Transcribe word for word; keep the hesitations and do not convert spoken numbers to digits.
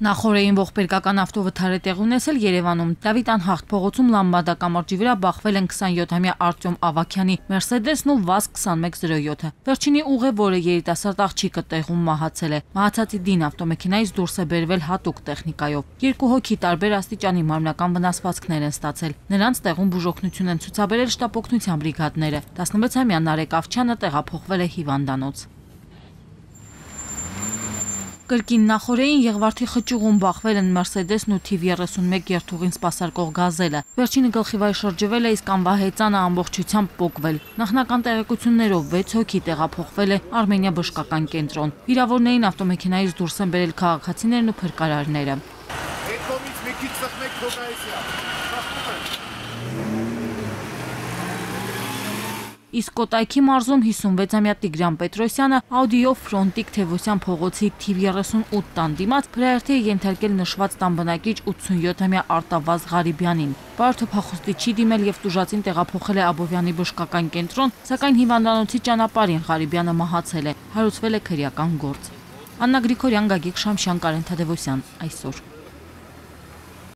Նախորդին ողբերգական ավտովթար է տեղի ունեցել Երևանում։ Դավիթ անհաղթ փողոցում Լամբադա կամրջի վրա բախվել են քսանյոթամյա Արտյոմ Ավագյանի Մերսեդեսն ու վազ քսանմեկ զրո յոթը։ Վերջինի ուղևորը երիտասարդ աղջիկը տեղում մահացել է։ Մահացածի դին ավտոմեքենայից դուրս է բերվել հատուկ տեխնիկայով։ Երկու հոգի տարբեր աստիճանի մարմնական վնասվածքներ են ստացել։ Նրանց տեղում բուժօգնություն են ցուցաբերել շտապօգնության բրիգադները։ տասնվեցամյա Նարեկ Ավչյանը տեղափոխվել է հիվանդանոց։ Կրկին նախորդին Եղվարդի խճուղում բախվել են Մերսեդեսն ու թիվ երեսունմեկ երթուղին սպասարկող գազելը։ Վերջինը գլխիվայր շրջվել է, իսկ անվահեծանը ամբողջությամբ պոկվել։ Նախնական տեղեկություններով վեց հոգի տեղափոխվել է Արմենիա բժշկական կենտրոն։ Վիրավորներին ավտոմեքենայից դուրս են բերել քաղաքացիներն ու փրկարարները։ Իսկ Կոտայքի մարզում հիսունվեցամյա Տիգրան Պետրոսյանը Աուդիով Ֆրոնտիկ Թևոսյան փողոցի թիվ երեսունութ տան դիմաց փրայերթի է ենթարկել նշված տան բնակիչ ութսունյոթամյա Արտավազ Ղարիբյանին։ Բարդը փախուստի չի դիմել եւ տուժածին տեղափոխել է Աբովյանի բժշկական կենտրոն, սակայն հիվանդանոցի ճանապարհին Ղարիբյանը մահացել է, հարուցվել է քրեական գործ։ Աննա Գրիգորյան, Գագիկ Շամշյան, Կարեն Թադևոսյան, այսօր։